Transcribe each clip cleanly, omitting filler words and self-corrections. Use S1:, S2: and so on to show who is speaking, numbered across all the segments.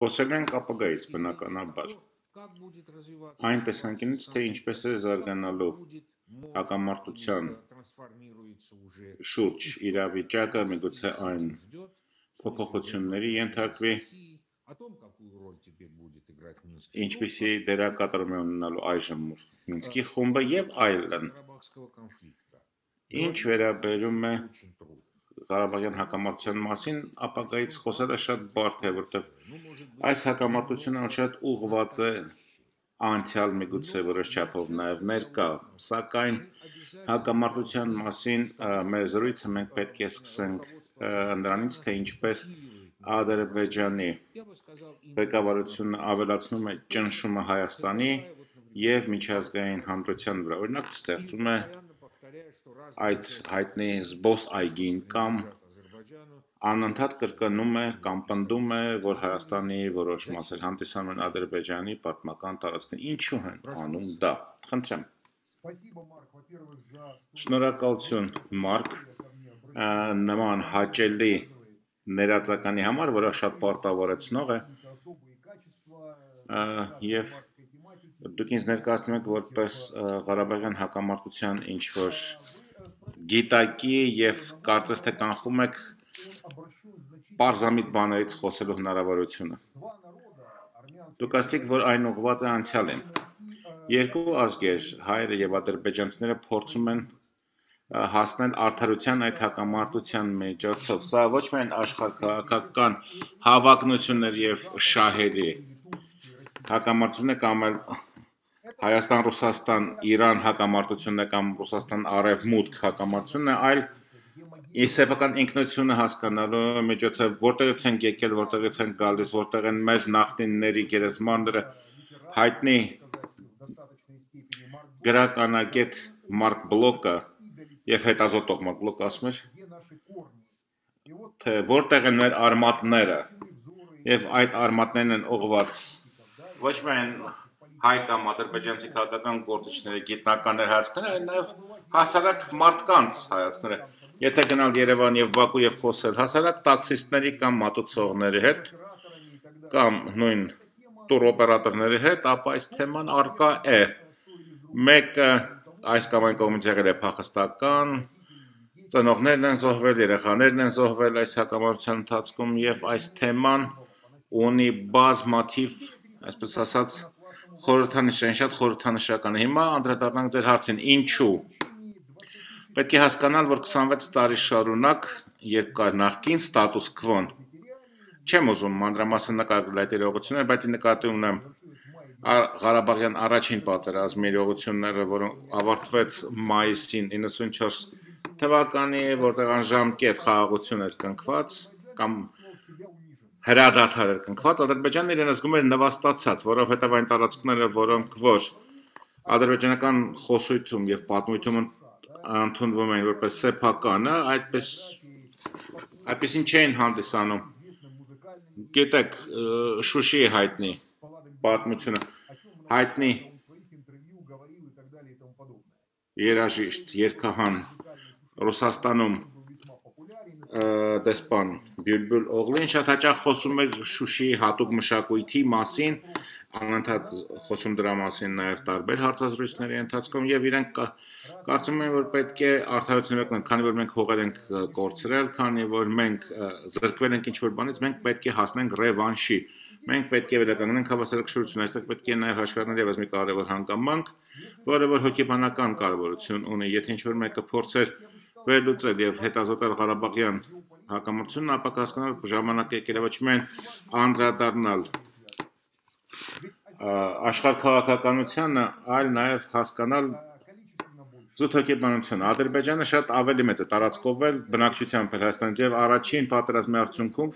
S1: Խոսել ենք ապագայից բնականաբար, այն տեսանկյունից, թե ինչպես է զարգանալու հակամարտության շուրջ իրավիճակը, միգուցե այն փոփոխությունների ենթարկվի, ինչպիսի դերակատարում է ունենալու այժմ Մինսկի խումբը եւ այլն։ Ինչ վերաբերում է Ղարաբաղյան հակամարտության մասին, ապագայից խոսելը շատ բարդ է, որտեղ այս հակամարտությունը շատ ուղղված է անցյալ միգուցե որոշ չափով նաև ներկա, սակայն հակամարտության մասին մեր զրույցը մենք պետք է սկսենք նրանից, թե ինչպես Ադրբեջանի ղեկավարությունը ավելացնում է ճնշումը Հայաստանի եւ միջազգային հանրության վրա, օրինակ ստեղծում է այդ հայտնի զբոսայգին կամ անընդհատ կրկնում է կամ պնդում է, որ Հայաստանի որոշ մասեր հանդիսանում են Ադրբեջանի պատմական տարածքն։ Ինչու են անում դա։ Խնդրեմ։ Շնորհակալություն, Մարկ, նման հաճելի ներածականի համար, որը շատ պարտավորեցնող է, եւ դուք ինձ ներկայացնում եք որպես Ղարաբաղյան հակամարտության ինչ-որ գիտակի եւ կարծես թե կանխում եք պարզամիտ բաներից խոսելու հնարավորությունը։ Դուք ասացիք, որ այն ուղղված է անցյալին։ Երկու ազգեր, հայերը եւ ադրբեջանցիները փորձում են հասնել արդարության այդ հակամարտության միջոցով։ Սա ոչ միայն աշխարհաքաղաքական հավակնություններ եւ շահերի հակամարտություն է կամ էլ Հայաստան-Ռուսաստան-Իրան հակամարտությունն է կամ Ռուսաստան-Արևմուտք հակամարտությունն է, այլ սեփական ինքնությունը հասկանալու միջոցով, որտեղից են եկել, որտեղից են գալիս, որտեղ են մեր նախնիների գերեզմանները, հայտնի գրականագետ Մարկ Բլոկը եւ հետազոտող Մարկ Բլոկը ասում էր, թե որտեղ են մեր արմատները եւ այդ արմատներն են ուղղված ոչ միայն հայ կամ ադրբեջանցի քաղաքական գործիչների գիտնականներ հայացքները, այլ նաեւ հասարակ մարդկանց հայացքները։ Եթե գնալ Երևան եւ Բաքու եւ խոսել հասարակ տաքսիստների կամ մատուցողների հետ կամ նույն տուրօպերատորների հետ, ապա այս թեման արկա է։ Մեկը այս կամ այն կողմից եղել է փախստական, ծնողներն են զոհվել, երեխաներն են զոհվել այս հակամարտության ընթացքում եւ այս թեման ունի բազմաթիվ, այսպես ասած, խորհրդանշային, շատ խորհրդանշական է։ Հիմա անդրադառնանք ձեր հարցին, ինչու։ Պետք է հասկանալ, որ 26 տարի շարունակ, երբ կար նախկին ստատուս քվոն, չեմ ուզում մանրամասն նկարագրել այդ իրողությունները, բայց նկատի ունեմ Ղարաբաղյան առաջին պատերազմի իրողությունները, որը ավարտվեց մայիսին 94 թվականի, որտեղ անժամկետ խաղաղություն էր կնքված կամ հրադադար էր կնքված, Ադրբեջանն իրեն զգում էր նվաստացած, որովհետև այն տարածքները, որոնք որ ադրբեջանական խոսույթում եւ պատմույթում ընդունվում էին որպես սեփականը, այդպեսին չէին հանդիսանում։ Գիտեք, Շուշիի հայտնի պատմությունը, հայտնի երաժիշտ, երգահան Ռուսաստանում դեսպան Բյուլբուլ Օղլին շատ հաճախ խոսում էր Շուշիի հատուկ մշակույթի մասին, անընդհատ խոսում դրա մասին նաև տարբեր հարցազրույցների ընթացքում եւ իրենք կարծում են, որ պետք է արդարություն ունենալ, քանի որ մենք հողեր ենք կորցրել, քանի որ մենք զրկվել ենք ինչ-որ բանից, մենք պետք է հասնենք ռևանշի։ Մենք պետք է վերականգնենք հավասարակշռությունը, այստեղ պետք է նաև հաշվի առնել եւս մի կարևոր հանգամանք, որը որ հոգեբանական կարևորություն ունի, եթե ինչ-որ մեկը փորձեր վերլուծել եւ հետազոտել Ղարաբաղյան հակամարտությունն, ապա կհասկանալ, որ ժամանակ եկել է ոչ միայն անդրադառնալ աշխարհաքաղաքականությանը, այլ նաեւ հասկանալ զուտ հոգեբանությունը։ Ադրբեջանը շատ ավելի մեծ է տարածքով էլ բնակչությամբ էլ Հայաստանից եւ առաջին պատերազմի արդյունքում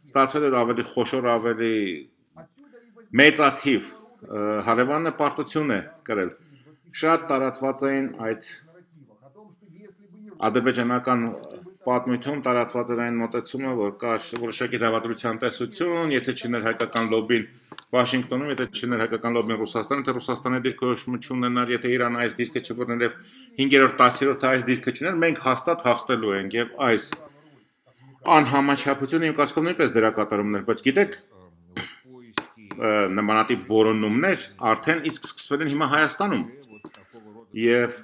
S1: ստացվել էր ավելի խոշոր, ավելի մեծաթիվ հարևանը պարտություն է կրել։ Շատ տարածված էին այդ ադրբեջանական պատմույթում տարածված էր այն մոտեցումը, որ կար որոշակի դավադրության տեսություն, եթե չներ հայկական լոբին Վաշինգտոնում, եթե չներ հայկական լոբին Ռուսաստանում, թե Ռուսաստանի դիրքորոշումը չունենար, եթե Իրանը այս դիրքը չբռներ եւ 5-րդ 10-րդ այս դիրքը չուներ, մենք հաստատ հաղթելու ենք եւ այս անհամաչափությունը իմ կարծիքով նույնպես դերակատարումներ, բայց գիտեք, նմանատիպ որոնումներ արդեն իսկ սկսվել են հիմա Հայաստանում եւ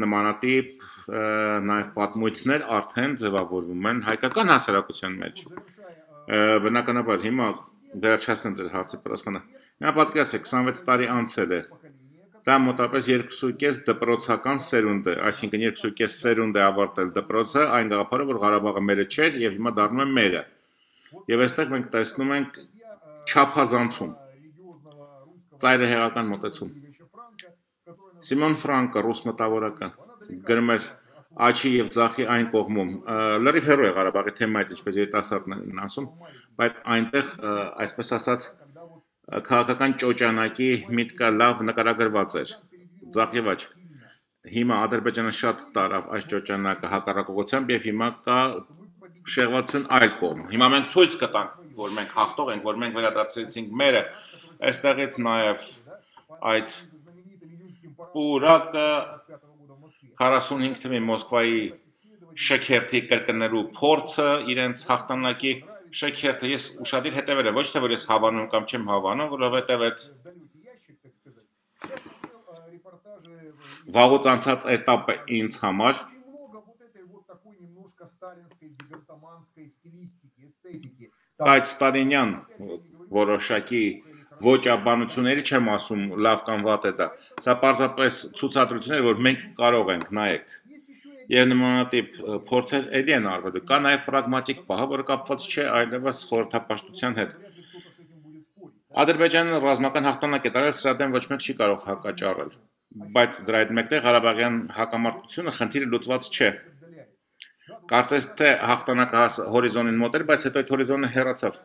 S1: նմանատիպ նաեւ պատմույթներ արդեն ձևավորվում են հայկական հասարակության մեջ բնականաբար հիմա վերջացնեմ ձեր հարցի պատասխանը նա պատկերացրեք 26 տարի անցել է դա մոտավորապես 2.5 դպրոցական սերունդ է այսինքն 2.5 սերունդ է ավարտել դպրոցը այն գաղափարը որ Ղարաբաղը մերը չէր եւ հիմա դառնում է մերը եւ այստեղ մենք տեսնում ենք չափազանցում ծայրահեղական մոտեցում Սիմոն Ֆրանկը ռուս մտավորական գրում էր աչի եւ ձախի այն կողմում լրիվ հեռու է Ղարաբաղի թեմայից ինչպես երիտասարդներն են ասում բայց այնտեղ այսպես ասած քաղաքական ճոճանակի միտքը լավ նկարագրված էր ձախ եւ աչ հիմա Ադրբեջանը շատ տարավ այս ճոճանակը հակառակողությամբ եւ հիմա կա շեղվածություն այլ կողմ հիմա մենք ցույց կտանք որ մենք հաղթող ենք որ մենք վերադարձրեցինք մերը այստեղից նաեւ այդ Պուրակը 45 թվականին Մոսկվայի շքերթի կրկնելու փորձը իրենց հաղթանակի շքերթը ես ուշադիր հետևել եմ ոչ թե որ ես հավանում կամ չեմ հավանում որովհետև այդ վաղուց անցած էտապը ինձ համար այդ ստալինյան որոշակի ոճաբանությունների չեմ ասում լավ կամ վատ է դա սա պարզապես ցուցադրություն է որ մենք կարող ենք նայեք եւ նմանատիպ փորձեր էլի են արվելու կա նաեւ պրագմատիկ պահը որը կապված չէ այլևս խորհրդապաշտության հետ Ադրբեջանը ռազմական հաղթանակ է տարել սրա դեմ ոչ մեկ չի կարող հակաճառել բայց դրա հետ մեկտեղ Ղարաբաղյան հակամարտությունը խնդիրը լուծված չէ կարծես թե հաղթանակը հորիզոնին մոտ էր բայց հետո այդ հորիզոնը հեռացավ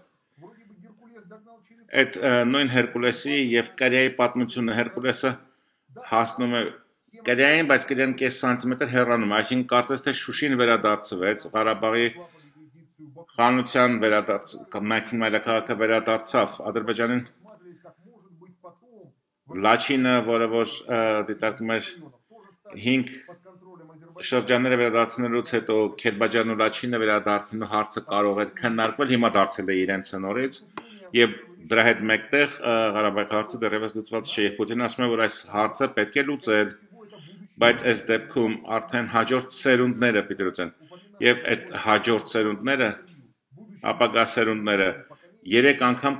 S1: այդ նույն Հերկուլեսի եւ Կորեայի պատմությունը Հերկուլեսը հասնում է Կորեային, բայց Կորեան կես սանտիմետր հեռանում է, այսինքն կարծես թե Շուշին վերադարձվեց, Ղարաբաղի խանության մայքին մայրաքաղաքը վերադարձավ Ադրբեջանին Լաչինը, որը որ դիտարկում էր 5 շրջանները վերադարձնելուց հետո Քերբաջարն ու Լաչինը վերադարձնելու հարցը կարող էր քննարկվել, հիմա դարձել է իրենց հնորից եւ դրա հետ մեկտեղ Ղարաբաղի հարցը դեռևս լուծված չէ եւ Պուտինն ասում է որ այս հարցը պետք է լուծել բայց այս դեպքում արդեն հաջորդ սերունդները պիտի լուծեն եւ այդ հաջորդ սերունդները ապագա սերունդները 3 անգամ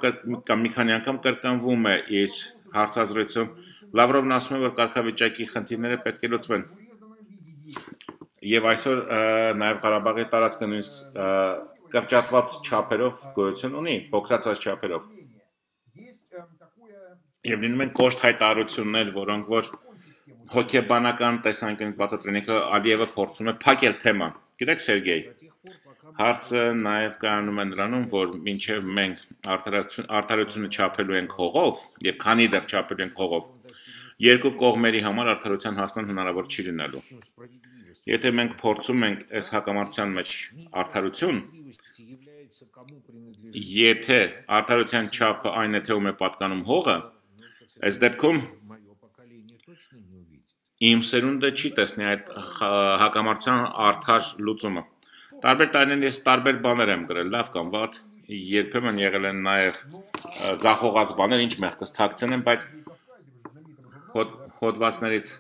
S1: կամ մի քանի անգամ կրկնվում է իր հարցազրույցում Լավրովն ասում է որ կարգավիճակի խնդիրները պետք է լուծվեն եւ այսօր նաեւ Ղարաբաղի տարածքը նույնիսկ կրճատված չափերով գոյություն ունի փոքրացած չափերով եւ լինում են կոշտ հայտարարություններ որոնք որ հոգեբանական տեսանկյունից բացատրելիքը Ալիևը փորձում է փակել թեման գիտեք Սերգեյ հարցը նաեւ կայանում է նրանում որ մինչեւ մենք արդարությունը չափելու ենք հողով եւ քանի դեռ չափելու ենք հողով երկու կողմերի համար արդարության հասնել հնարավոր չի լինելու եթե մենք փորձում ենք այս հակամարտության մեջ արդարություն եթե արդարության չափը այն է թե ում է պատկանում հողը այս դեպքում իմ սերունդը չի տեսնի այդ հակամարտության արդար լուծումը տարբեր տարիներ ես տարբեր բաներ եմ գրել լավ կամ վատ երբեմն եղել են նաեւ ձախողած բաներ ինչ մեղքս թաքցնեմ բայց հոդվածներից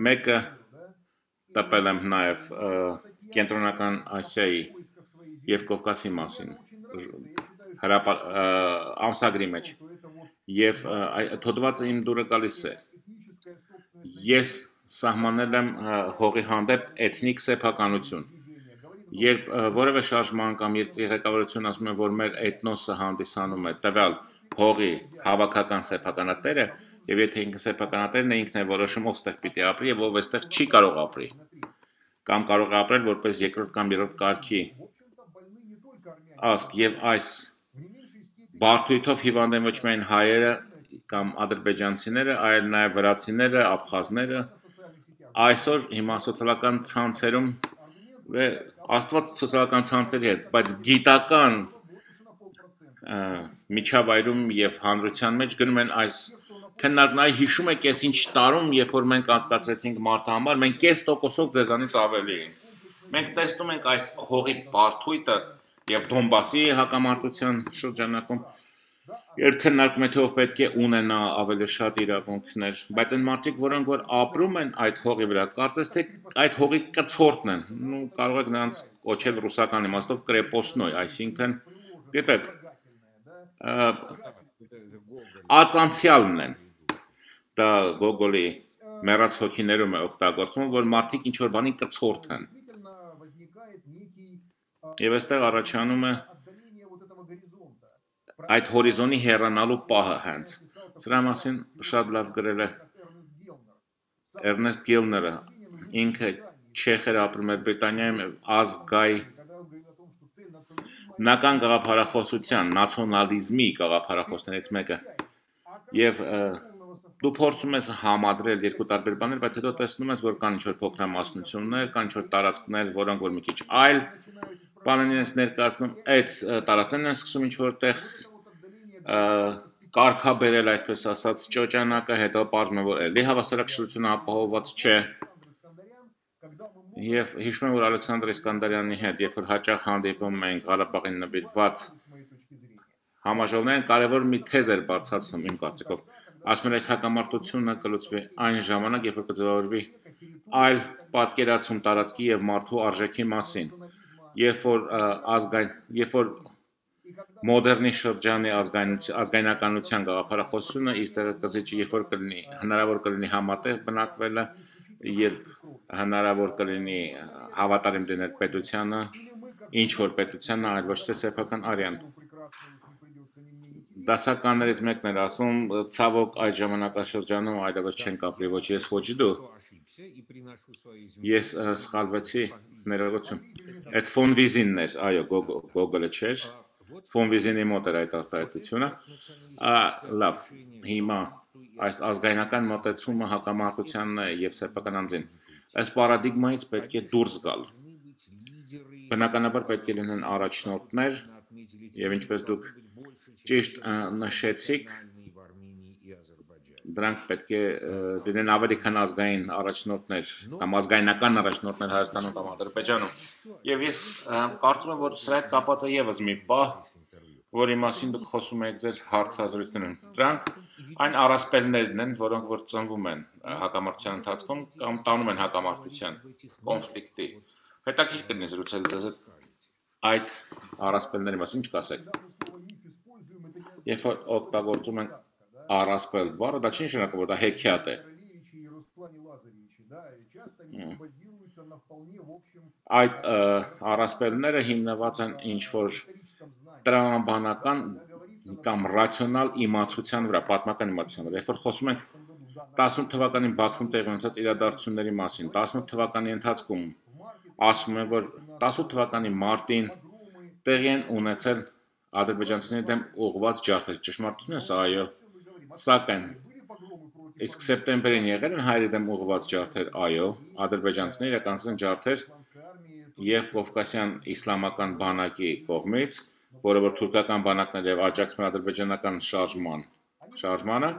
S1: մեկը տպել եմ նաեւ կենտրոնական Ասիայի եւ Կովկասի մասին ամսագրի մեջ եւ հոդվածը իմ դուրը գալիս է ես սահմանել եմ հողի հանդեպ էթնիկ սեփականություն երբ որևէ շարժման կամ երկրի ղեկավարությունը ասում է որ մեր էթնոսը հանդիսանում է տվյալ հողի հավաքական սեփականատերը եւ եթե ինքը սեփականատերն է ինքն է որոշում ով ստեղ պիտի ապրի եւ ով այստեղ չի կարող ապրի կամ կարող է ապրել որպես երկրորդ կամ երրորդ կարգի ասկ եւ այս բարդույթով հիվանդ են ոչ միայն հայերը կամ ադրբեջանցիները, այլ նաև վրացիները, աբխազները այսօր հիմա սոցիալական ցանցերում աստված սոցիալական ցանցերի հետ, բայց գիտական միջավայրում եւ հանրության մեջ գնում են այս քննարկնայի հիշում եք ես ինչ տարում, երբ որ մենք անցկացրեցինք մարդու համար, մենք 0.5% ձեզանից ավելի ենք։ Մենք տեսնում ենք այս հողի բարդույթը եւ Դոնբասի հակամարտության շրջանակում երբ քննարկում է թե ով պետք է ունենա ավելի շատ իրավունքներ, բայց այն մարդիկ, որոնք որ ապրում են այդ հողի վրա, կարծես թե այդ հողի կցորդն են, կարող եք նրանց կոչել ռուսական իմաստով կրեպոսնոյ, այսինքն, գիտեք, ածանցյալն են, դա Գոգոլի մեռած հոգիներում է օգտագործվում, որ մարդիկ ինչ-որ բանի կցորդ են, և այստեղ առաջանում է այդ հորիզոնի հեռանալու պահը հենց, սրա մասին շատ լավ գրել է Էրնեստ Գիլները, ինքը չեխ էր ապրում էր Բրիտանիայում ազգայնական գաղափարախոսության, նացիոնալիզմի գաղափարախոսներից մեկը, և դու փորձում ես համադրել երկու տարբեր բաներ, բայց հետո տեսնում ես, որ կան ինչ-որ փոքրամասնություններ, կան ինչ-որ տարածքներ, որոնք որ մի քիչ այլ բաներ են ներկայացնում, այդ տարածքներն են սկսում ինչ-որ տեղ կարգաբերել, այսպես ասած, ճոճանակը, հետո պարզվում է, որ էլի հավասարակշռությունը ապահովված չէ, և հիշում եմ, որ Ալեքսանդր Իսկանդարյանի հետ, երբ որ հաճախ հանդիպում ենք Ղարաբաղին նվիրված համաժողովներին, կարևոր մի թեզ էր բարձրացնում իմ կարծիքով, ասում էր այս հակամարտությունը կլուծվի այն ժամանակ, երբ որ կձևավորվի այլ պատկերացում տարածքի և մարդու արժեքի մասին, երբ որ մոդեռնի շրջանի ազգայնականության գաղափարախոսությունը իր տեղը կզիջի, երբ որ հնարավոր կլինի համատեղ բնակվելը, երբ հնարավոր կլինի հավատարիմ լինել պետությանը, ինչ-որ պետությանը, այլ ոչ թե սեփական արյան։ Դասականներից մեկն էր ասում, ցավոք այդ ժամանակաշրջանում այլևս չենք ապրի ոչ ես, ոչ դու, ես սխալվեցի, ներողություն, այդ Ֆոն Վիզինն էր, այո, Գոգոլը չէր, Ֆոն Վիզինի մոտ էր այդ արտահայտությունը, լավ, հիմա այս ազգայնական մոտեցումը հակամարտությանն է և սեփական անձին, այս պարադիգմայից պետք է դուրս գալ, բնականաբար պետք է լինեն առաջնորդներ, և ինչպես դուք ճիշտ նշեցիք, դրանք պետք է լինեն ավելի քան ազգային առաջնորդներ, կամ ազգայնական առաջնորդներ Հայաստանում կամ Ադրբեջանում, և ես կարծում եմ, որ սրա հետ կապված է ևս մի պահ, որի մասին դուք խոսում եք ձեր հարցազրույցներում, դրանք այն առասպելներն են, որոնք որ ծնվում են հակամարտության ընթացքում կամ տանում են հակամարտության, կոնֆլիկտի, հետաքրքիր կլինի զրուցել ձեզ հետ այդ առասպելների մասին, ինչ կասեք, երբ որ օգտագործում են առասպել բառը, դա չի նշանակում, որ դա հեքիաթ է, այդ առասպելները հիմնված են ինչ-որ տրամաբանական կամ ռացիոնալ իմացության վրա, պատմական իմացության վրա, երբ որ խոսում ենք 18 թվականին Բաքվում տեղի ունեցած իրադարձությունների մասին, 18 թվականի ընթացքում ասվում է, որ 18 թվականի մարտին տեղի են ունեցել ադրբեջանցիների դեմ ուղղված ջարդեր, ճշմարտություն է սա, այո, սակայն իսկ սեպտեմբերին եղել են հայերի դեմ ուղղված ջարդեր, այո, ադրբեջանցիները իրականացրել են ջարդեր և Կովկասյան իսլամական բանակի կողմից, որը որ թուրքական բանակներ և աջակցում են ադրբեջանական շարժմանը,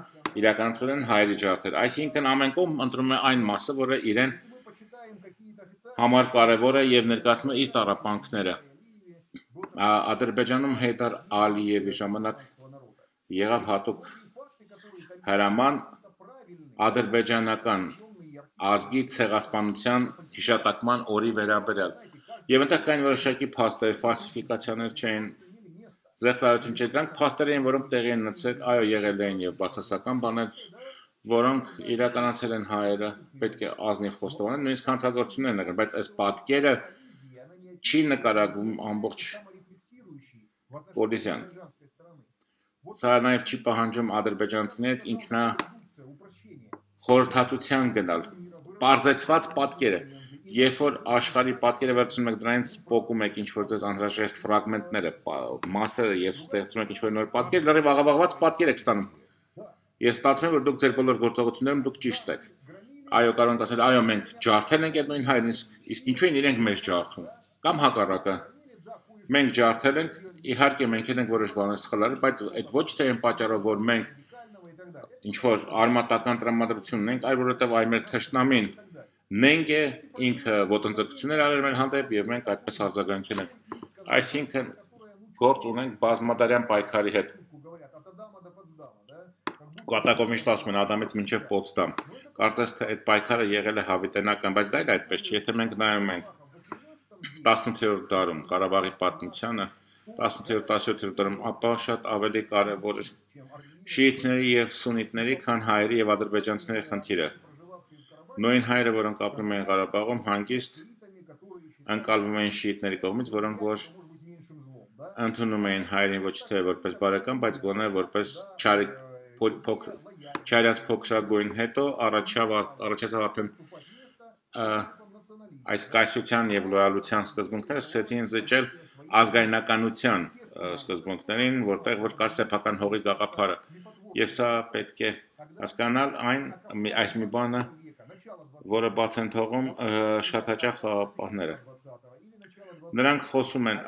S1: իրականացրել են հայերի ջարդեր, այսինքն ամեն կողմ ընտրում է այն մասը, որը իրեն համար կարևոր է և ներկայացնում է իր տառապանքները, Ադրբեջանում Հեյդար Ալիևի ժամանակ եղավ հատուկ հրաման ադրբեջանական ազգի ցեղասպանության հիշատակման օրի վերաբերյալ, և այնտեղ կային որոշակի փաստեր, ֆալսիֆիկացիաներ չէին, զեղծարարություն չէր, դրանք փաստեր էին, որոնք տեղի են ունեցել, այո, եղել էին և բացասական բաներ, որոնք իրականացել են հայերը, պետք է ազնիվ խոստովանել, նույնիսկ հանցագործություններ են եղել, բայց այս պատկերը չի նկարագրում ամբողջ Պոլիսյան, սա նաև չի պահանջում ադրբեջանցիներից ինքնախորհրդածության գնալ, պարզեցված պատկերը, երբ որ աշխարհի պատկերը վերցնում եք դրանից պոկում եք ինչ-որ ձեզ անհրաժեշտ ֆրագմենտները, մասերը և ստեղծում եք ինչ-որ նոր պատկեր, լրիվ աղավաղված պատկեր եք ստանում, և ստացվում է, որ դուք ձեր բոլոր գործողություններում դուք ճիշտ եք, այո, կարող ենք ասել, այո, մենք ջարդել ենք այդ նույն հայերին, իսկ ինչու են իրենք մեզ ջարդում, կամ հակառակը, մենք ջարդել ենք, իհարկե մենք ենք որոշ բաներ սխալ արել, բայց այդ ոչ թե այն պատճառով, որ մենք ինչ-որ արմատական տրամադրություն ունենք, այլ որովհետև այ մեր թշնամին նենք է, ինքը ոտնձգություններ արել մեր հանդեպ և մենք այդպես արձագանքել ենք, այսինքն գործ ունենք բազմադարյան պայքարի հետ, Կատակով միշտ ասում են Ադամից մինչև Պոտսդամ։ Կարծես թե այդ պայքարը եղել է հավիտենական, բայց դա էլ այդպես չի։ Եթե մենք նայում ենք 18-րդ դարում Ղարաբաղի պատմությանը, 18-17-րդ դարում, ապա շատ ավելի կարևոր էր շիիթների եւ սուննիտների, քան հայերի եւ ադրբեջանցիների խնդիրը։ Նույն հայերը, որոնք ապրում էին Ղարաբաղում, հանգիստ ընկալվում էին շիիթների կողմից, որոնք որ ընդունում էին հայերին ոչ թե որպես բարեկամ, բայց գոնե որպես չարիած փոքրագույն, հետո առաջացավ արդեն այս կայսրության եւ լոյալության սկզբունքները սկսեցին զիջել ազգայնականության սկզբունքներին, որտեղ որ կար սեփական հողի գաղափարը, եւ սա պետք է հասկանալ այս մի բանը, որը բաց են թողում շատ հաճախ խաղապահները։ Նրանք խոսում են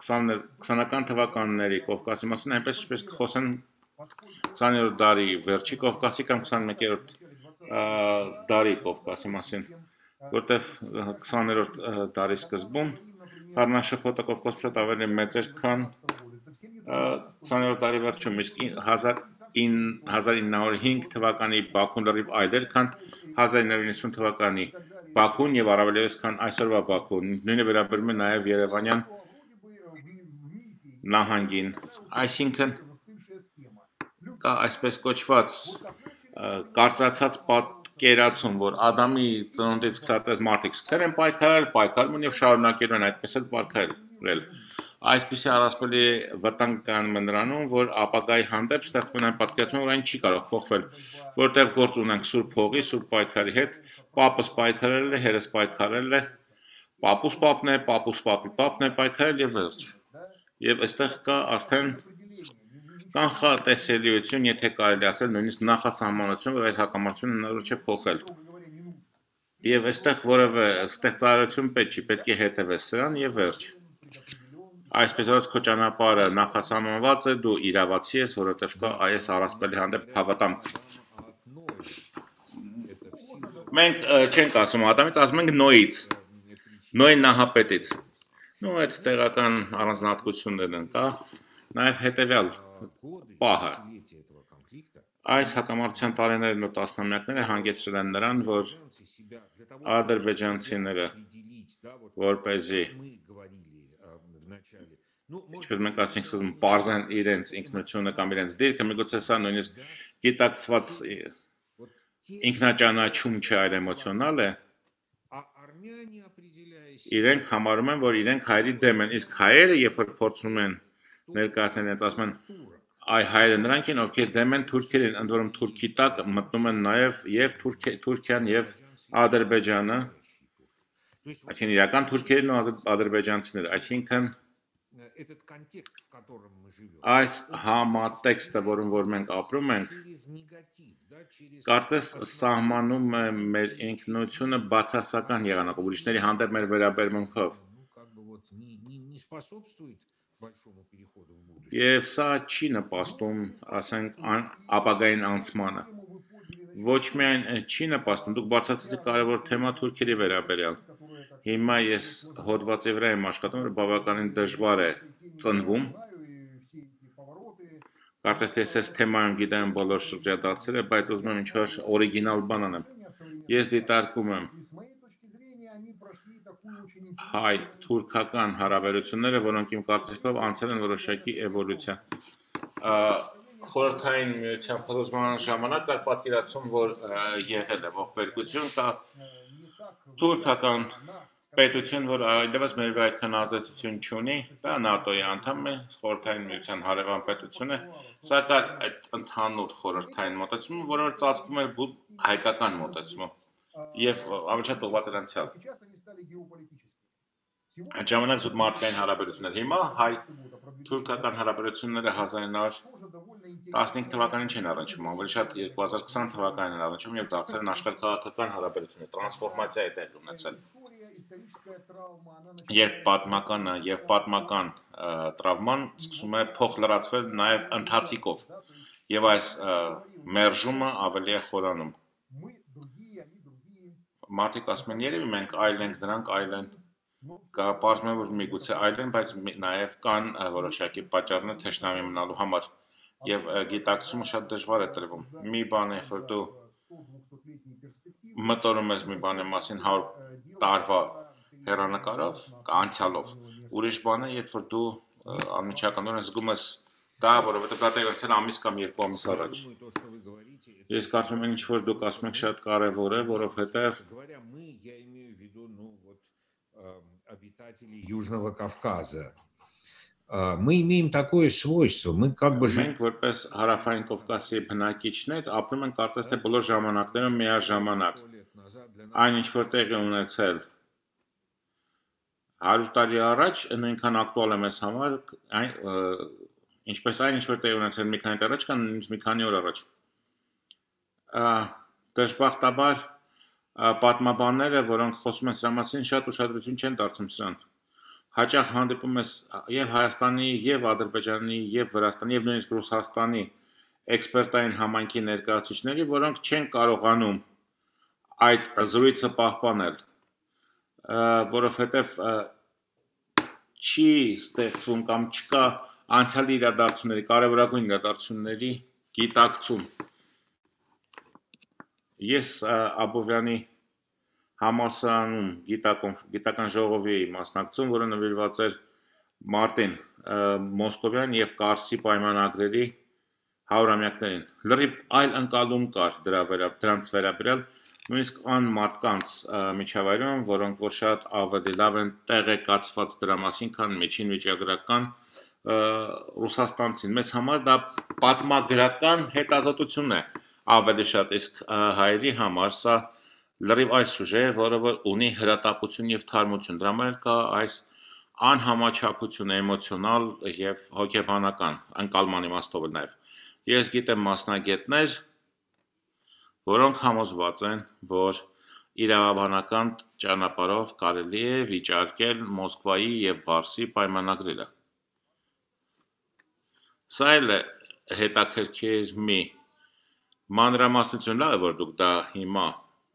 S1: 20-ական թվականների Կովկասի մասին, այնպես ինչպես խոսեն 20-րդ դարի վերջի Կովկասի կամ 21-րդ դարի Կովկասի մասին, որտեղ 20-րդ դարի սկզբում խառնաշփոթը Կովկասում շատ ավելի մեծ էր, քան 20-րդ դարի վերջում, իսկ 1905 թվականի Բաքուն լրիվ այլ էր, քան 1990 թվականի Բաքուն եւ առավելևս քան այսօրվա Բաքուն, նույնը վերաբերում է նաեւ Երևանյան նահանգին, այսինքն կա այսպես կոչված կարծրացած պատկերացում, որ Ադամի ծնունդից սկսած մարդիկ սկսել են պայքարում եւ շարունակել են այդպես էլ պայքարել։ Այսպիսի առասպելի վտանգ կան նրանում, որ ապագայի հանդեպ ստեղծվում են պատկերացում, որ այն չի կարող փոխվել, որտեղ գործ ունենք սուրբ հողի, սուրբ պայքարի հետ, պապս պայքարել է, հերս պայքարել է, պապուս պապն է, պապուս պապի պապն է պայքարել եւ վերջ։ Եվ այստեղ կա արդեն կանխատեսելիություն, եթե կարելի ասել, նույնիսկ նախասահմանություն, որ այս հակամարտությունը հնարավոր չէ փոխել։ Եվ այստեղ որևէ ստեղծարարություն պետք է հետևես սրան եւ վերջ։ Այսպես ասած, քո ճանապարհը նախասահմանված է, դու իրավացի ես, որովհետև կա այս առասպելի հանդեպ հավատամք։ Մենք չենք ասում Ադամից, ասում ենք Նոյից, Նոյ նահապետից։ Նո, այդ տեղական առանձնահատկություններն են, կա նաև հետևյալ պահը։ Այս հակամարտության տարիներն ու տասնամյակները հանգեցրել են նրան, որ ադրբեջանցիները, որպեսզի ինչպես մենք ասենք սկզբում պարզեն իրենց ինքնությունը կամ իրենց դիրքը, միգուցե սա նույնիսկ գիտակցված ինքնաճանաչում չէ, այլ էմոցիոնալ է, իրենք համարում են, որ իրենք հայերի դեմ են, իսկ հայերը, երբ որ փորձում են ներկայացնել իրենց, ասում են, այ հայերը նրանք են, ովքեր դեմ են թուրքերին, ընդ որում թուրքի տակ մտնում են նաև եւ Թուրքիան եւ Ադրբեջանը, այսինքն իրական թուրքերն ու ադրբեջանցիները, այսինքն այս համատեքստը, որում որ մենք ապրում ենք, կարծես սահմանում է մեր ինքնությունը բացասական եղանակով, ուրիշների հանդեպ մեր վերաբերմունքով։ Եվ սա չի նպաստում, ասենք, ապագային անցմանը։ Ոչ միայն չի նպաստում, դուք բացատրեցիք կարևոր թեմա թուրքերի վերաբերյալ։ Հիմա ես հոդվածի վրա եմ աշխատում, որ բավականին դժվար է ծնվում։ Կարծես թե ես այս թեմայում գիտեմ բոլոր շրջադարձերը, բայց ուզում եմ ինչ-որ օրիգինալ բան անեմ։ Ես դիտարկում եմ հայ-թուրքական հարաբերությունները, որոնք իմ կարծիքով անցել են որոշակի էվոլյուցիա։ Խորհրդային միության փլուզման ժամանակ կար պատկերացում, որ եղել է ողբերգություն, կա թուրքական պետություն, որ այլևս մեր վրա այդքան ազդեցություն չունի, դա ՆԱՏՕ-ի անդամ է, խորհրդային միության հարևան պետություն է, սա կար այդ ընդհանուր խորհրդային մոտեցումը, որը որ ծածկում էր հայկական մոտեցումը եւ ավելի շատ ուղղված էր անցյալ։ Այդ ժամանակ զուտ մարդկային հարաբերություններ։ Հիմա հայ-թուրքական հարաբերությունները 1915 թվականին չեն առնչվում, ավելի շատ 2020 թվականին են առնչվում եւ դարձել են աշխարհքաղաքական հարաբերություններ, տրանսֆորմացիա է տեղի ունեցել։ Երբ պատմական տրավման սկսում է փոխլրացվել նաև ընթացիկով եւ այս մերժումը ավելի է խորանում։ Մարդիկ ասում են, երևի մենք այլ ենք, դրանք այլ են։ Պարզվում է, որ միգուցե այլ են, բայց նաև կան որոշակի պատճառներ թշնամի մնալու համար։ եւ գիտակցումը շատ դժվար է տրվում։ Մի բան է, որ դու մտորում ես մի բանի մասին 100 տարվա հեռանկարով, անցյալով։ Ուրիշ բան է, երբ որ դու անմիջականորեն զգում ես դա, որովհետեւ դա տեղի ունեցել ամիս կամ 2 ամիս առաջ։ Ես կարծում եմ, ինչ որ դուք ասում եք շատ կարեւոր է, որովհետեւ
S2: обитатели Южного Кавказа. Мы имеем такое свойство, мы как бы
S1: Մենք որպես հարավային Կովկասի բնակիչներ ապրում ենք կարծես թե բոլոր ժամանակներում միաժամանակ։ Այն ինչ որ տեղի ունեցել 100 տարի առաջ նույնքան ակտուալ է մեզ համար, ինչպես այն ինչ որ տեղի ունեցել մի քանի տարի առաջ կամ մի քանի օր առաջ։ Դժբախտաբար պատմաբանները, որոնք խոսում են սրա մասին, շատ ուշադրություն չեն դարձնում սրան։ Հաճախ հանդիպում ես եւ Հայաստանի, եւ Ադրբեջանի, եւ Վրաստանի, եւ նույնիսկ Ռուսաստանի էքսպերտային համայնքի ներկայացուցիչների, որոնք չեն կարողանում այդ զրույցը պահպանել, որովհետեւ չի ստեղծվում կամ չկա անցյալի իրադարձությունների, կարևորագույն իրադարձությունների գիտակցում։ Ես Աբովյանի համալսարանում գիտական ժողովի մասնակցում, որը նվիրված էր Մարտին Մոսկովյան եւ Կարսի պայմանագրերի 100-ամյակներին։ Լրիվ այլ ընկալում կար դրանց վերաբերյալ, նույնիսկ այն մարդկանց միջավայրում, որոնք որ շատ ավելի լավ են տեղեկացված դրա մասին, քան միջին վիճակագրական ռուսաստանցին։ Մեզ համար դա պատմագրական հետազոտություն է ավելի շատ, իսկ հայերի համար սա լրիվ այլ սուժե է, որը ունի հրատապություն եւ թարմություն։ Դրա համար կա այս անհամաչափությունը էմոցիոնալ եւ հոգեբանական, ընկալման իմաստով նաեւ։ Ես գիտեմ մասնագետներ, որոնք համոզված են, որ իրավաբանական ճանապարհով կարելի է վիճարկել Մոսկվայի եւ Վարսի պայմանագրերը։ Սա էլ է հետաքրքիր մի մանրամասնություն, լավ է, որ դուք դա հիմա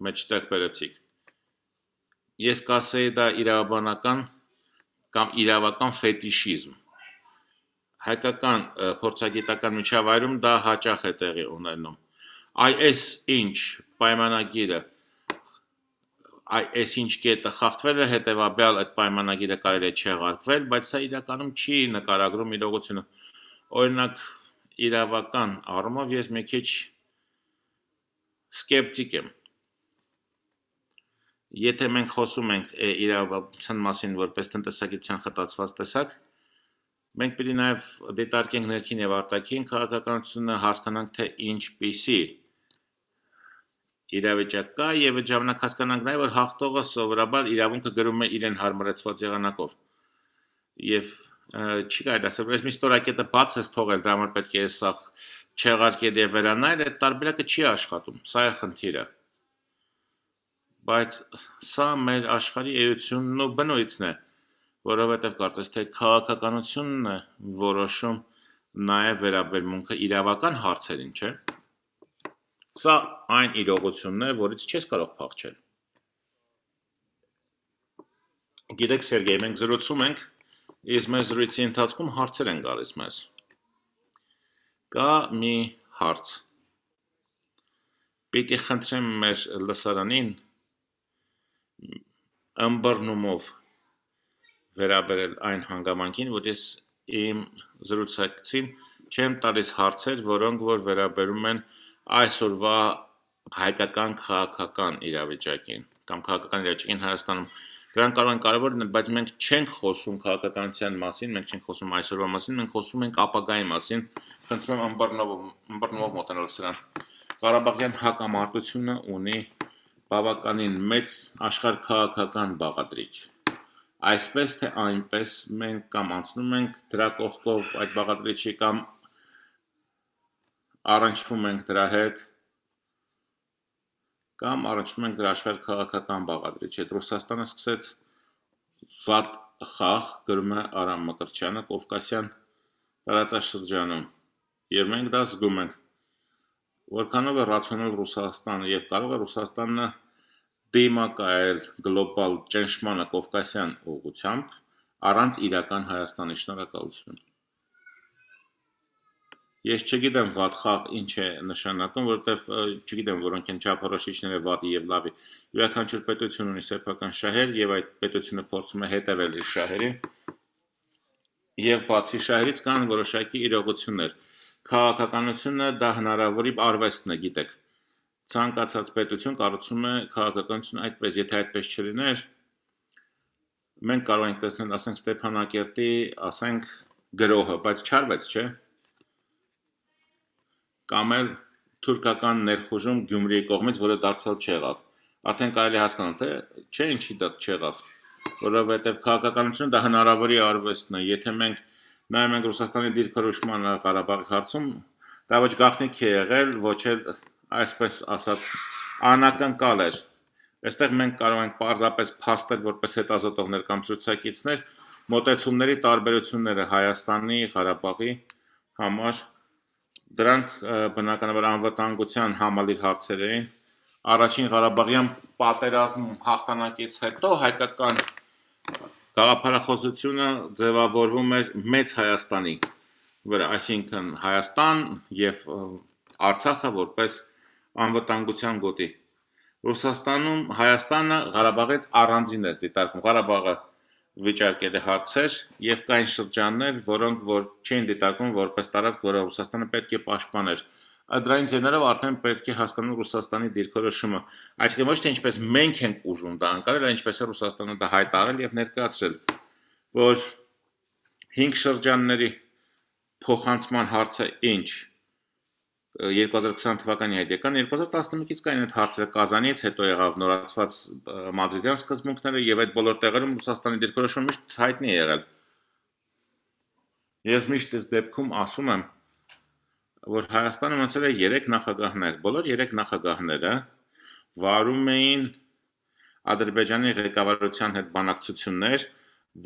S1: մեջտեղ բերեցիք։ Ես կասեի դա իրավաբանական կամ իրավական ֆետիշիզմ։ Հայկական փորձագիտական միջավայրում դա հաճախ է տեղի ունենում։ Այս ինչ պայմանագիրը, այս ինչ կետը խախտվել է, հետևաբար այդ պայմանագիրը կարելի է չեղարկվել, բայց սա իրականում չի նկարագրում իրողությունը։ Օրինակ իրավական առումով ես մի քիչ սկեպտիկ եմ։ Եթե մենք խոսում ենք իրավաբանության մասին որպես տնտեսագիտության խտացված տեսակ, մենք պիտի նաև դիտարկենք ներքին եւ արտաքին քաղաքականությունը, հասկանանք թե ինչպիսի իրավիճակ կա եւ այդ ժամանակ հասկանանք նաեւ որ հաղթողը սովորաբար իրավունքը գրում է իրեն հարմարեցված եղանակով։ Եվ չի կարելի ասել, որ այս մի ստորակետը բաց է թողել, դրա համար պետք է սա չեղարկել եւ վերանայել, այդ տարբերակը չի աշխատում։ Սա է խնդիրը։ Բայց սա մեր աշխարհի էությունն ու բնույթն է, որովհետև կարծես թե քաղաքականությունն է որոշում նաև վերաբերմունքը իրավական հարցերին, չէ՞։ Սա այն իրողությունն է, որից չես կարող փախչել։ Գիտեք, Սերգեյ, մենք զրուցում ենք, իսկ մեր զրույցի ընթացքում հարցեր են գալիս մեզ։ Կա մի հարց։ Պիտի խնդրեմ մեր լսարանին ըմբռնումով վերաբերել այն հանգամանքին, որ ես իմ զրուցակցին չեմ տալիս հարցեր, որոնք որ վերաբերում են այսօրվա հայկական քաղաքական իրավիճակին կամ քաղաքական իրավիճակին Հայաստանում։ Դրանք կարող են կարևոր լինել, բայց մենք չենք խոսում քաղաքականության մասին, մենք չենք խոսում այսօրվա մասին, մենք խոսում ենք ապագայի մասին։ Խնդրում եմ ըմբռնումով մոտենալ սրան։ Ղարաբաղյան հակամարտությունը ունի բավականին մեծ աշխարհքաղաքական բաղադրիչ։ Այսպես թե այնպես մենք կամ անցնում ենք դրա կողքով այդ բաղադրիչի կամ առնչվում ենք դրա հետ կամ առնչվում ենք դրա աշխարհքաղաքական բաղադրիչի հետ։ Ռուսաստանը սկսեց վատ խաղ, գրում է Արամ Մկրտչյանը, Կովկասյան տարածաշրջանում, եւ մենք դա զգում ենք։ Որքանով է ռացիոնալ Ռուսաստանը եւ կարող է Ռուսաստանը դիմակայել գլոբալ ճնշմանը Կովկասյան ուղղությամբ առանց իրական Հայաստանի։ Շնորհակալություն։ Ես չգիտեմ վատ խաղ ինչ է նշանակում, որովհետև չգիտեմ որոնք են չափորոշիչները վատի եւ լավի։ Յուրաքանչյուր պետություն ունի սեփական շահեր եւ այդ պետությունը փորձում է հետևել իր շահերին։ Եվ բացի շահերից կան որոշակի իրողություններ։ Քաղաքականությունը դա հնարավորի արվեստն է, գիտեք։ Ցանկացած պետություն կառուցում է քաղաքականություն այդպես, եթե այդպես չլիներ, մենք կարող ենք տեսնել, ասենք Ստեփանակերտի, ասենք գրոհը, բայց չարվեց, չէ՞։ Կամ էլ թուրքական ներխուժում Գյումրիի կողմից, որը դարձյալ չեղավ։ Արդեն կարելի հասկանալ, թե չէ ինչի դա չեղավ, որովհետև քաղաքականությունը դա հնարավորի արվեստն է, եթե մենք նայում ենք Ռուսաստանի դիրքորոշմանը Ղարաբաղի հարցում, դա ոչ գաղտնիք է եղել, ոչ էլ այսպես ասած անակնկալ էր։ Այստեղ մենք կարող ենք պարզապես փաստել որպես հետազոտողներ կամ ցուցակիցներ մոտեցումների տարբերությունները Հայաստանի, Ղարաբաղի համար, դրանք բնականաբար անվտանգության համալիր հարցեր էին։ Առաջին Ղարաբաղյան պատերազմում հաղթանակից հետո հայկական գաղափարախոսությունը ձևավորվում էր մեծ Հայաստանի վրա, այսինքն Հայաստան եւ Արցախը որպես անվտանգության գոտի։ Ռուսաստանում Հայաստանը Ղարաբաղից առանձին էր դիտարկում։ Ղարաբաղը վիճարկել է հարցեր եւ կային շրջաններ, որոնք որ չէին դիտարկվում որպես տարածք, որը Ռուսաստանը պետք է պաշտպաներ։ Դրանից ելնելով արդեն պետք է հասկանալ Ռուսաստանի դիրքորոշումը, այսինքն ոչ թե ինչպես մենք ենք ուզում դա անցնել, այլ ինչպես է Ռուսաստանը դա հայտարարել եւ ներկայացրել, որ 5 շրջանների փոխանցման հարցը ինչ 2020 թվականի հետ եկան 2011-ից կային այդ հարցերը Կազանից, հետո եղավ նորացված Մադրիդյան սկզբունքները եւ այդ բոլոր տեղերում Ռուսաստանի դիրքորոշումը միշտ հայտնի է եղել։ Ես միշտ այս դեպքում ասում եմ, որ Հայաստանը ունեցել է 3 նախագահներ, բոլոր 3 նախագահները վարում էին Ադրբեջանի ղեկավարության հետ բանակցություններ,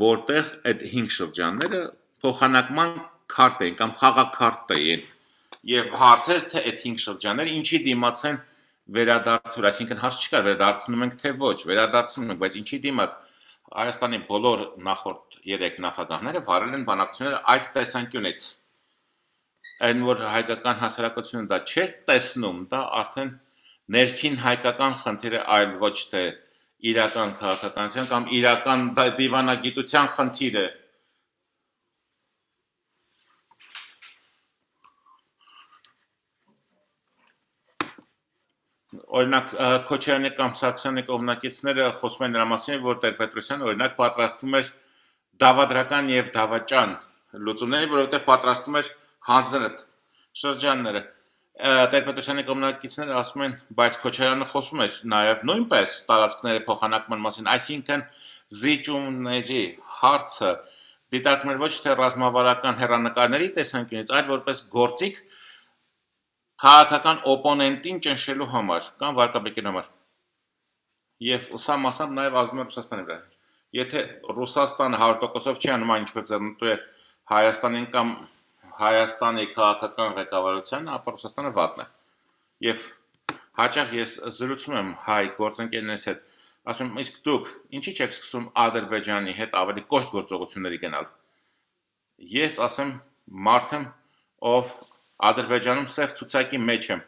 S1: որտեղ այդ 5 շրջանները փոխանակման քարտ էին կամ խաղաքարտ էին։ Եվ հարցեր թե այդ 5 շրջանները ինչի դիմաց են վերադարձվել, այսինքն հարց չկար, վերադարձնում ենք թե ոչ, վերադարձնում ենք, բայց ինչի դիմաց Հայաստանի բոլոր նախորդ 3 նախագահները վարել են բանակցությունները այդ տեսանկյունից։ Այն որ հայկական հասարակությունը դա չէր տեսնում, դա արդեն ներքին հայկական խնդիր է, այլ ոչ թե իրական քաղաքականության կամ իրական դիվանագիտության խնդիր է։ Օրինակ Քոչարյանի կամ Սարգսյանի կողմնակիցները խոսում են նրա մասին, որ Տեր-Պետրոսյանը օրինակ պատրաստում էր դավադրական եւ դավաճան լուծումների, որովհետեւ պատրաստում էր հանձնել այդ շրջանները։ Տեր-Պետրոսյանի կողմնակիցները ասում են, բայց Քոչարյանը խոսում էր նաեւ նույնպես տարածքների փոխանակման մասին, այսինքն զիջումների հարցը դիտարկում էր ոչ թե ռազմավարական հերանեկարների տեսանկյունից, այլ որպես գործիք քաղաքական օպոնենտին ճնշելու համար կամ վարկաբեկելու համար։ Եվ սա մասամբ նաև ազդում է Ռուսաստանի վրա։ Եթե Ռուսաստանը 100%-ով չի անում այն, ինչպես ձեռնտու է Հայաստանին կամ Հայաստանի քաղաքական ղեկավարությանը, ապա Ռուսաստանը վատն է։ Եվ հաճախ ես զրուցում եմ հայ գործընկերներից հետ, ասում եմ, իսկ դուք ինչի՞ չեք սկսում Ադրբեջանի հետ ավելի կոշտ գործողությունների գնալ։ Ես ասեմ, մարդ եմ, ով Ադրբեջանում սև ցուցակի մեջ եմ։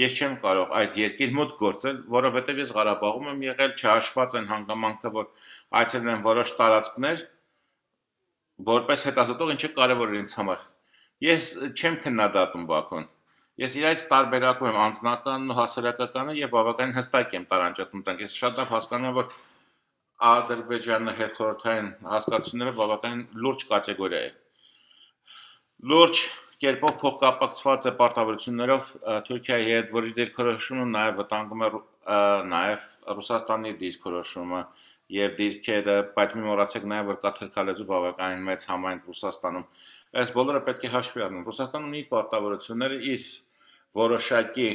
S1: Ես չեմ կարող այդ երկիր մոտ գործել, որովհետև ես Ղարաբաղում եմ եղել, չհաշված են հանգամանքը, որ այցելել եմ որոշ տարածքներ, որպես հետազոտող ինչը կարևոր է ինձ համար։ Ես չեմ քննադատում Բաքուն։ Ես իրայից տարբերակում եմ անձնականն ու հասարակականը եւ բավականին հստակ եմ տարանջատում դրանք։ Ես շատ լավ հասկանում եմ, որ Ադրբեջանը հետխորհրդային հասկացությունները բավականին լուրջ կատեգորիա է։ Լուրջ կերպով փոխկապակցված է պարտավորություններով Թուրքիայի հետ, որի դիրքորոշումը նաև վտանգում է նաև Ռուսաստանի դիրքորոշումը եւ դիրքերը, բայց մի մոռացեք նաև որ կա թրքալեզու բավականին մեծ համայնք Ռուսաստանում։ Այս բոլորը պետք է հաշվի առնել։ Ռուսաստանը ունի պարտավորությունները իր որոշակի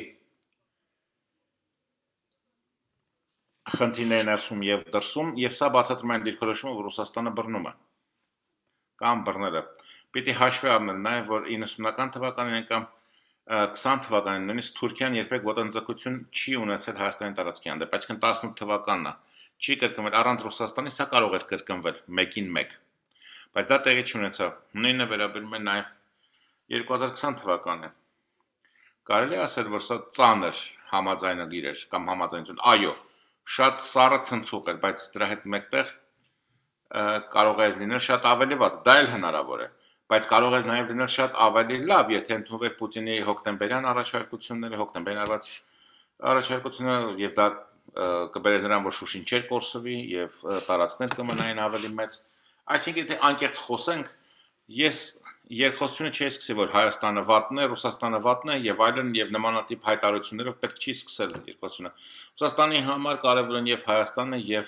S1: խնդիրների ներսում եւ դրսում, եւ սա բացատրում է այն դիրքորոշումը, որ Ռուսաստանը բռնում է կամ բռնել է։ Պիտի հաշվի առնել նաև, որ 90-ական թվականին կամ 20 թվականին նույնիսկ Թուրքիան երբեք ոտնձգություն չի ունեցել Հայաստանի տարածքի հանդեպ, այսինքն 18 թվականն է, չի կրկնվել առանց Ռուսաստանի, սա կարող էր կրկնվել 1-ին 1, բայց դա տեղի չունեցավ։ Նույնը վերաբերում է նաև 2020 թվականը։ Կարելի ասել, որ սա ծանր համաձայնագիր էր կամ համաձայնություն։ Այո, շատ սառը ցնցուկ էր, բայց դրա հետ մեկտեղ կարող էր լինել շատ ավելի վատ։ Դա էլ հնարավոր է, բայց կարող էր նաև լինել շատ ավելի լավ, եթե ընդունվեր Պուտինի հոկտեմբերյան առաջարկությունները, հոկտեմբերյան արված առաջարկությունները եւ դա կբերեր նրան, որ Շուշին չէր կորսվի եւ տարածքներ կմնային ավելի մեծ։ Այսինքն, եթե անկեղծ խոսենք, ես երկխոսությունը չի սկսի, որ Հայաստանը վատն է, Ռուսաստանը վատն է եւ այլն եւ նմանատիպ հայտարարություններով պետք չի սկսել երկխոսությունը։ Ռուսաստանի համար կարևոր են եւ Հայաստանը եւ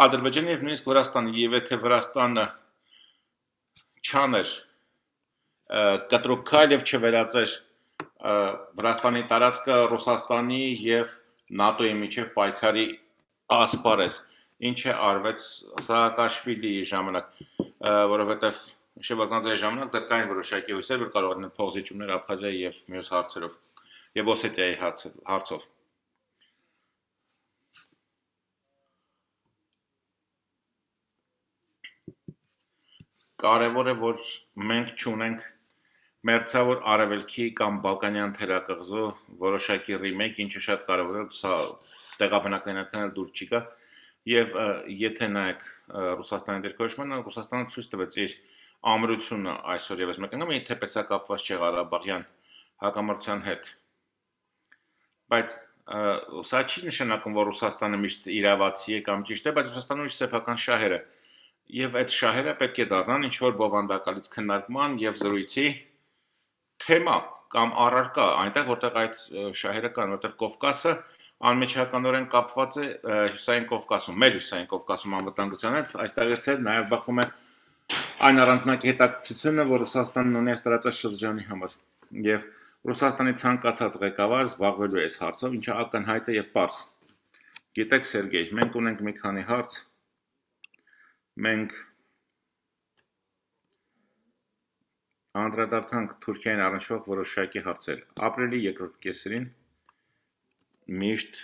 S1: Ադրբեջանը եւ նույնիսկ Վրաստանը, եւ եթե Վրաստանը չաներ կտրուկ քայլ եւ չվերածեր Վրաստանի տարածքը Ռուսաստանի եւ ՆԱՏՕ-ի միջև պայքարի ասպարեզ, ինչը արվեց Սաակաշվիլիի ժամանակ, որովհետեւ շրջանաձեի ժամանակ դեռ կային որոշակի հույսեր, որ կարող են փոխզիջումներ Աբխազիայի եւ մյուս հարցերով եւ Օսետիայի հարցով։ Կարևոր է, որ մենք չունենք մերձավոր արևելքի կամ բալկանյան թերակղզու որոշակի ռիմեյք, ինչը շատ կարևոր է, սա տեղաբնակներն դուր չի գա, եւ եթե նայեք Ռուսաստանի դիրքորոշմանը, Ռուսաստանը ցույց տվեց իր ամրությունը այսօր եւս մեկ անգամ, թեպետ սա կապված չէ Ղարաբաղյան հակամարտության հետ, բայց սա չի նշանակում, որ Ռուսաստանը միշտ իրավացի է կամ ճիշտ է, բայց Ռուսաստանում իր սեփական շահերը եւ այդ շահերը պետք է դառնան ինչ որ բովանդակալից քննարկման եւ զրույցի թեմա կամ առարկա, այնտեղ որտեղ այդ շահերը կան, որտեղ Կովկասը անմիջականորեն կապված է Հյուսային Կովկասում, մեր Հյուսային Կովկասում անվտանգության հետ, այստեղից էլ նաեւ բախում է այն առանձնակի հետաքրքրությունը, որ Ռուսաստանն ունի այս տարածաշրջանի համար եւ Ռուսաստանի ցանկացած ղեկավար զբաղվելու է այս հարցով, ինչը ակնհայտ է եւ պարզ։ Գիտեք, Սերգեյ, մենք ունենք մի քանի հարց, մենք անդրադարձանք Թուրքիային առնչվող որոշակի հարցեր։ Ապրիլի երկրորդ կեսերին միշտ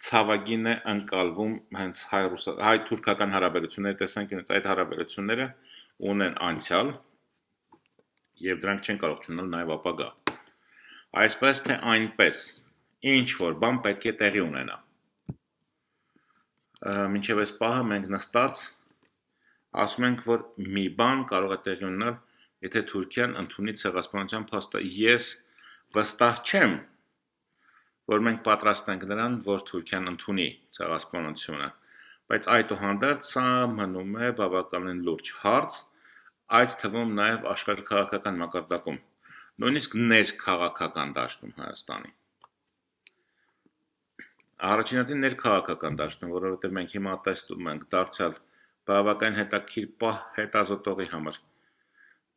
S1: ցավագին է ընկալվում հենց հայ-թուրքական հարաբերությունների տեսանկյունից, այդ հարաբերությունները ունեն անցյալ եւ դրանք չեն կարող չունենալ նաեւ ապագա։ Այսպես թե այնպես, ինչ որ բան պետք է տեղի ունենա։ Մինչև այս պահը մենք նստած ասում ենք, որ մի բան կարող է տեղի ունենալ, եթե Թուրքիան ընդունի ցեղասպանության փաստը։ Ես վստահ չեմ, որ մենք պատրաստ ենք նրան, որ Թուրքիան ընդունի ցեղասպանությունը, բայց այդուհանդերձ սա մնում է բավականին լուրջ հարց, այդ թվում նաև աշխարհաքաղաքական մակարդակում, նույնիսկ ներքաղաքական դաշտում Հայաստանի։ Առաջինատին ներքաղաքական դաշտում, որովհետև մենք հիմա տեսնում ենք դարձյալ բավական հետաքրքիր պահ հետազոտողի համար։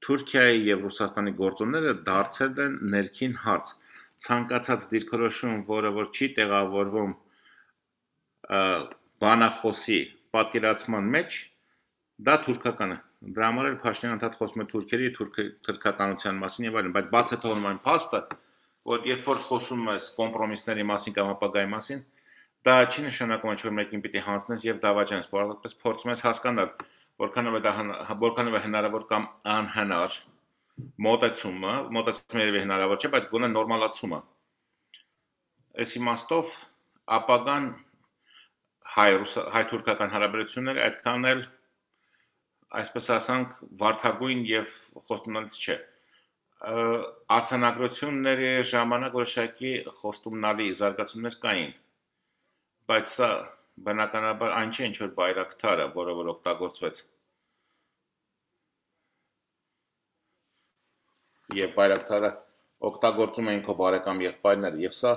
S1: Թուրքիայի եւ Ռուսաստանի գործոնները դարձել են ներքին հարց, ցանկացած դիրքորոշում, որը որ չի տեղավորվում բանախոսի պատկերացման մեջ, դա թուրքական է։ Դրա համար էլ Փաշինյանը ընդհանուր խոսում է թուրքերի թուրքականության մասին եւ այլն, բայց բաց է թողնում այն փաստը, որ երբ որ խոսում ես կոմպրոմիսների մասին կամ ապագայի մասին, դա չի նշանակում, որ մեկին պիտի հանձնես եւ դավաճանես, որովհետեւ փորձում ես հասկանալ, որքանով է հնարավոր կամ անհնար մոտեցումը երևի հնարավոր չէ, բայց գոնե նորմալացումը։ Այս իմաստով ապագան հայ-թուրքական հարաբերությունները այդքան էլ այսպես ասանք վարդագույն եւ խոստումնալից չէ։ Արձանագրությունների ժամանակ որոշակի խոստումնալի զարգացումներ կային, բայց սա բնականաբար այն չէ, ինչ որ բայրակթարը, որը որ օգտագործվեց։ Եվ բայրակթարը օգտագործում էին քո բարեկամ եղբայրները, եւ սա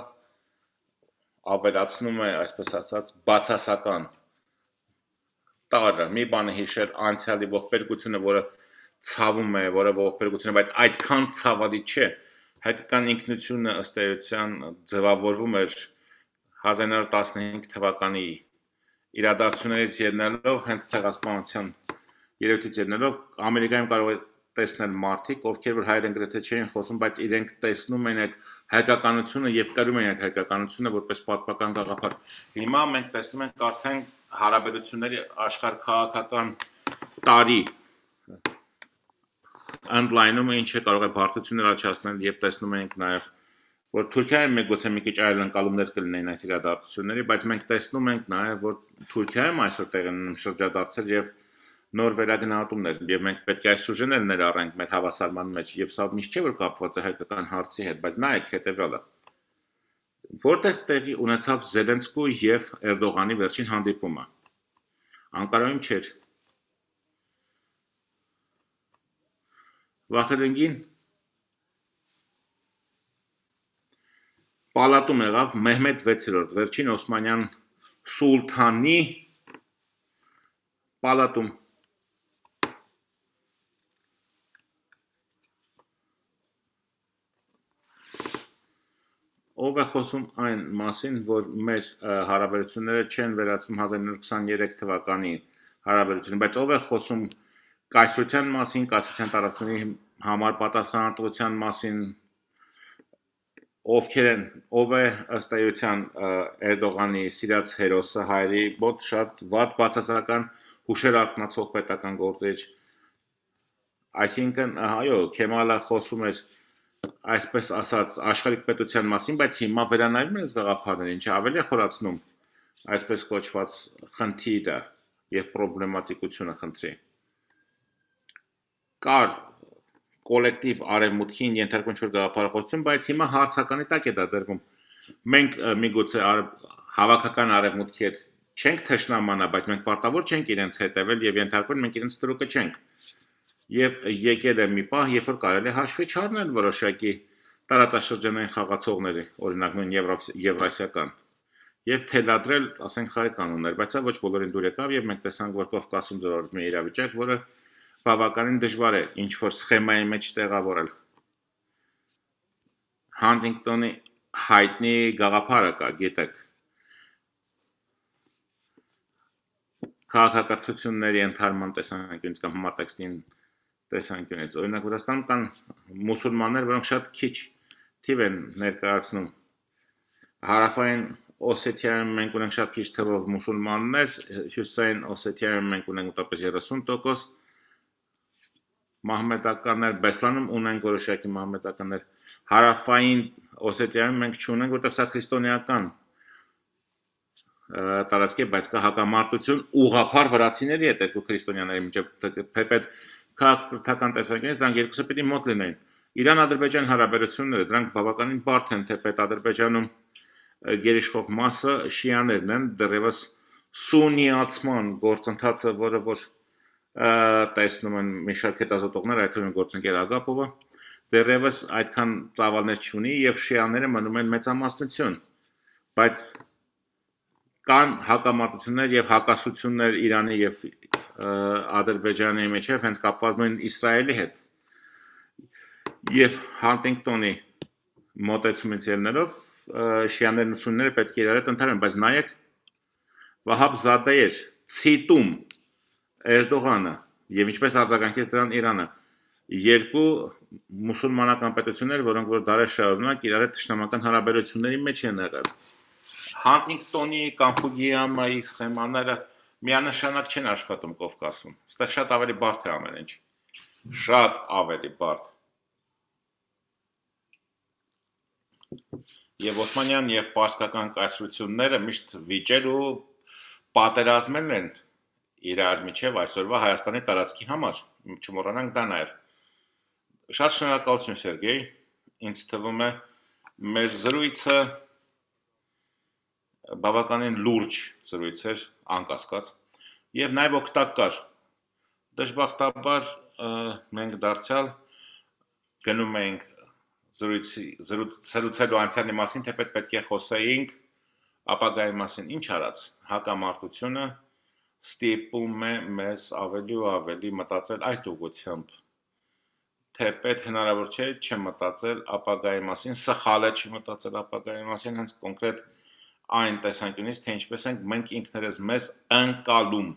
S1: ավելացնում է, այսպես ասած, բացասական տարը, մի բանը հիշել անցյալի ողբերգությունը, որը ցավում է, որը ողբերգությունը, բայց այդքան ցավալի չէ։ Հայկական ինքնությունը ըստ էության ձևավորվում էր 1915 թվականի իրադարձություններից ելնելով, հենց ցեղասպանության երևույթից ելնելով, Ամերիկայում կարող է տեսնել մարդիկ, ովքեր որ հայերեն գրեթե չէին խոսում, բայց իրենք տեսնում են այդ հայկականությունը եւ կրում են այդ հայկականությունը որպես պատմական գաղափար։ Հիմա մենք տեսնում ենք արդեն հարաբերությունների աշխարհքաղաքական տարի ընդլայնումը ինչը կարող է բարդություններ աճացնել եւ տեսնում ենք նաեւ որ Թուրքիայում միգուցե մի քիչ այլ ընկալումներ կլինեն այս իրադարձությունների, բայց մենք տեսնում ենք նաեւ որ Թուրքիայում այսօր տեղ ունեն շրջադարձեր եւ նոր վերագնահատումներ եւ մենք պետք է այս սուժեները ներառենք մեր հավասարման մեջ եւ սա միշտ չէ որ կապված է հայկական հարցի հետ, բայց նայեք հետեւյալը որտեղ տեղի ունեցավ Զելենսկու եւ Էրդողանի վերջին հանդիպումը Անկարայում չէր Վախեդենգին Պալատում եղավ Մեհմեդ 6-րդ վերջին Օսմանյան սուլթանի պալատում ով է խոսում այն մասին, որ մեր հարաբերությունները չեն վերածվում 1923 թվականի հարաբերություն, բայց ով է խոսում կայսրության մասին, կայսրության տարածքների համար պատասխանատվության մասին, ովքեր են, ով է ըստ էության Էրդողանի սիրած հերոսը հայերի մոտ շատ վատ բացասական հուշեր արտնացող պետական գործիչ, այսինքն, այո, Քեմալը խոսում էր այսպես ասած աշխարհիկ պետության մասին, բայց հիմա վերանայում են այս գաղափարները, ինչը ավելի է խորացնում այսպես կոչված խնդիրը եւ պրոբլեմատիկությունը խնդրի։ Կար կոլեկտիվ արևմուտքին ենթարկվում ինչ-որ գաղափարախոսություն, բայց հիմա հարցականի տակ է դա դրվում։ Մենք միգուցե հավաքական արևմուտքի հետ չենք թշնամանա, բայց մենք պարտավոր չենք իրենց հետևել եւ ենթարկվել մենք իրենց ստրուկը չենք։ Եվ եկել է մի պահ, երբ որ կարելի է հաշվի չառնել որոշակի տարածաշրջանային խաղացողների, օրինակ նույն եվրասիական, եւ թելադրել, ասենք, հայ կանոններ, բայց դա ոչ բոլորին դուր եկավ եւ մենք տեսանք, որ Կովկասում ձևավորվում է իրավիճակ, որը բավականին դժվար է ինչ որ սխեմայի մեջ տեղավորել։ Հանտինգտոնի հայտնի գաղափարը կա, գիտեք։ Քաղաքակրթությունների ընդհանրման տեսանկյունից կամ համատեքստին տեսանկյունից։ Օրինակ Վրաստանում կան մուսուլմաններ, որոնք շատ քիչ թիվ են ներկայացնում։ Հարավային Օսեթիայում մենք ունենք շատ քիչ թվով մուսուլմաններ, Հյուսիսային Օսեթիայում մենք ունենք մոտավորապես 30%, մահմեդականներ, Բեսլանում ունենք որոշակի մահմեդականներ, Հարավային Օսեթիայում մենք չունենք, որտեղ սա քրիստոնեական տարածքի, բայց կա հակամարտություն ուղղափառ վրացիների հետ երկու քրիստոնյաների միջև թեպետ քաղաքական տեսանկյունից դրանք երկուսը պիտի մոտ լինեն։ Իրան-Ադրբեջան հարաբերությունները դրանք բավականին բարդ են, թեպետ Ադրբեջանում գերիշխող մասը շիաներն են, դեռևս սունիացման գործընթացը, որը որ տեսնում են մի շարք հետազոտողներ, այդ թվում գործընկեր Ագապովը, դեռևս այդքան ծավալներ չունի եւ շիաները մնում են մեծամասնություն, բայց կան հակամարտություններ եւ հակասություններ Իրանի եւ Ադրբեջանի միջև հենց կապված նույն Իսրայելի հետ եւ Հանտինգտոնի մոտեցումից ելնելով շիաներն ու սունները պետք է իրար հետ ընդհանրեն, բայց նայեք Վահաբ Զադեեր ցիտում Էրդողանը եւ ինչպես արձագանքեց դրան Իրանը երկու մուսուլմանական պետություններ, որոնք որ դարեր շարունակ իրար հետ ճշտամական հարաբերությունների մեջ են եղել։ Հանտինգտոնի կամ Ֆուգիամայի սխեմաները միանշանակ չեն աշխատում Կովկասում։ Այստեղ շատ ավելի բարդ է ամեն ինչ։ Շատ ավելի բարդ։ Եվ Օսմանյան եւ պարսկական կայսրությունները միշտ վիճել ու պատերազմել են իրար միջև այսօրվա Հայաստանի տարածքի համար։ Չմոռանանք դա նաեւ։ Շատ շնորհակալություն Սերգեյ, ինձ թվում է մեր զրույցը բավականին լուրջ զրույց էր, անկասկած, եւ նաեւ օգտակար։ Դժբախտաբար մենք դարձյալ գնում ենք զրուցելու անցյալի մասին, թեպետ պետք է խոսեինք ապագայի մասին։ Ինչ արած, հակամարտությունը ստիպում է մեզ ավելի ու ավելի մտածել այդ ուղղությամբ։ Թեպետ հնարավոր չէ չմտածել ապագայի մասին, սխալ է չմտածել ապագայի մասին, հենց կոնկրետ այն տեսանկյունից, թե ինչպես ենք մենք ինքներս մեզ ընկալում,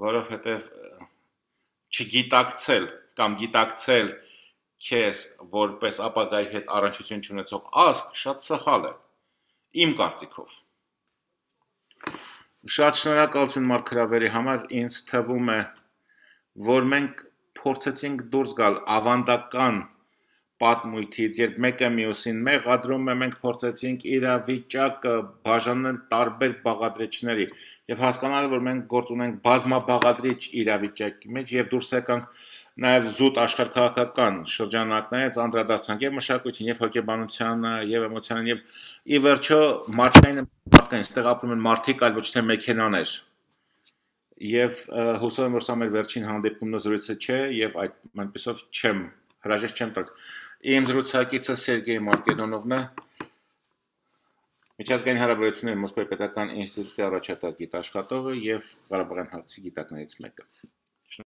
S1: որովհետև չգիտակցել կամ գիտակցել քեզ որպես ապագայի հետ առնչություն չունեցող ազգ շատ սխալ է, իմ կարծիքով։ Շատ շնորհակալություն Մարկ Հրավերի համար, ինձ թվում է, որ մենք փորձեցինք դուրս գալ ավանդական պատմույթից, երբ մեկը մյուսին մեղադրում է, մենք փորձեցինք իրավիճակը բաժանել տարբեր բաղադրիչների եւ հասկանալ, որ մենք գործ ունենք բազմաբաղադրիչ իրավիճակի մեջ եւ դուրս եկանք նաեւ զուտ աշխարհքաղաքական շրջանակներից անդրադարձանք եւ մշակույթին եւ հոգեբանությանը եւ էմոցիաներին եւ ի վերջո մարդկային այստեղ ապրում են մարդիկ, այլ ոչ թե մեքենաներ։ Եվ հուսով եմ, որ սա մեր վերջին հանդիպումն ու զրույցը չէ եւ այդպեսով հրաժեշտ չեմ տալ։ Իմ զրուցակիցը Սերգեյ Մարկեդոնովն է, միջազգային հարաբերությունների Մոսկվայի պետական ինստիտուտի առաջատար գիտաշխատողը եւ Ղարաբաղյան հարցի գիտակներից մեկը։